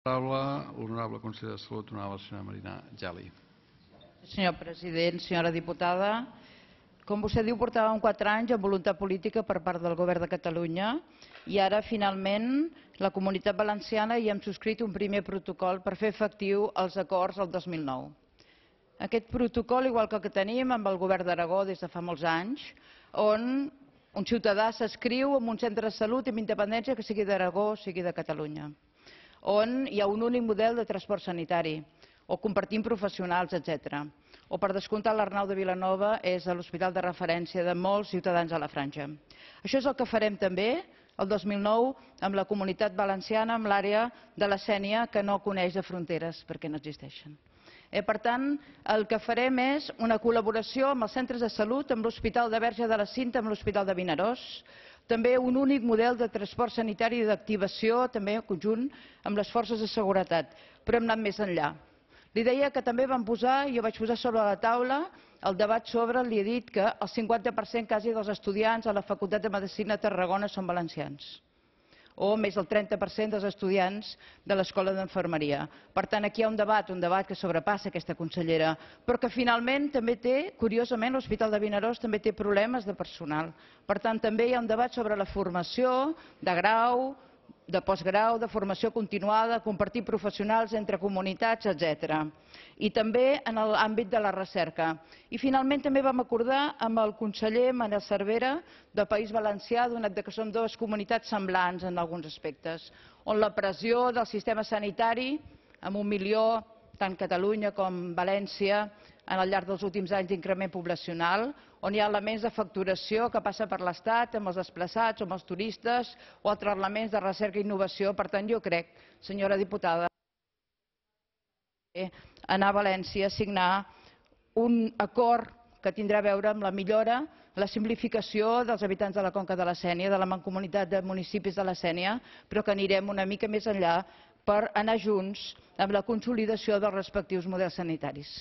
Paraula, honorable conseller de Salut, honorable senyora Marina Geli. Senyor president, senyora diputada, com vostè diu, portàvem 4 anys amb voluntat política per part del govern de Catalunya i ara, finalment, la Comunitat Valenciana hi hem subscrit un primer protocol per fer efectiu els acords del 2009. Aquest protocol, igual que el que tenim amb el govern d'Aragó des de fa molts anys, on un ciutadà s'adscriu en un centre de salut amb independència que sigui d'Aragó o sigui de Catalunya, on hi ha un únic model de transport sanitari, o compartim professionals, etc. O, per descomptat, l'Arnau de Vilanova és l'hospital de referència de molts ciutadans a la Franja. Això és el que farem també el 2009 amb la Comunitat Valenciana, amb l'àrea de la Sénia, que no coneix de fronteres perquè no existeixen. Per tant, el que farem és una col·laboració amb els centres de salut, amb l'Hospital de Verge de la Cinta, amb l'Hospital de Vinaròs, també un únic model de transport sanitari i d'activació, també en conjunt amb les forces de seguretat, però hem anat més enllà. Li deia que també vam posar, jo vaig posar sobre la taula, el debat sobre, li he dit que el 50% quasi dels estudiants a la Facultat de Medicina de Tarragona són valencians, o més del 30% dels estudiants de l'Escola d'Infermeria. Per tant, aquí hi ha un debat que sobrepassa aquesta consellera, però que finalment també té, curiosament, l'Hospital de Vinaròs també té problemes de personal. Per tant, també hi ha un debat sobre la formació de grau, de postgrau, de formació continuada, compartir professionals entre comunitats, etc. I també en l'àmbit de la recerca. I finalment també vam acordar amb el conseller Manel Cervera del País Valencià, donat que som dues comunitats semblants en alguns aspectes, on la pressió del sistema sanitari, amb 1 milió, tant Catalunya com València, al llarg dels últims anys d'increment poblacional, on hi ha elements de facturació que passa per l'Estat, amb els desplaçats, amb els turistes, o altres elements de recerca i innovació. Per tant, jo crec, senyora diputada, anar a València a signar un acord que tindrà a veure amb la millora, la simplificació dels habitants de la Conca de la Sénia, de la Mancomunitat de Municipis de la Sénia, però que anirem una mica més enllà per anar junts amb la consolidació dels respectius models sanitaris.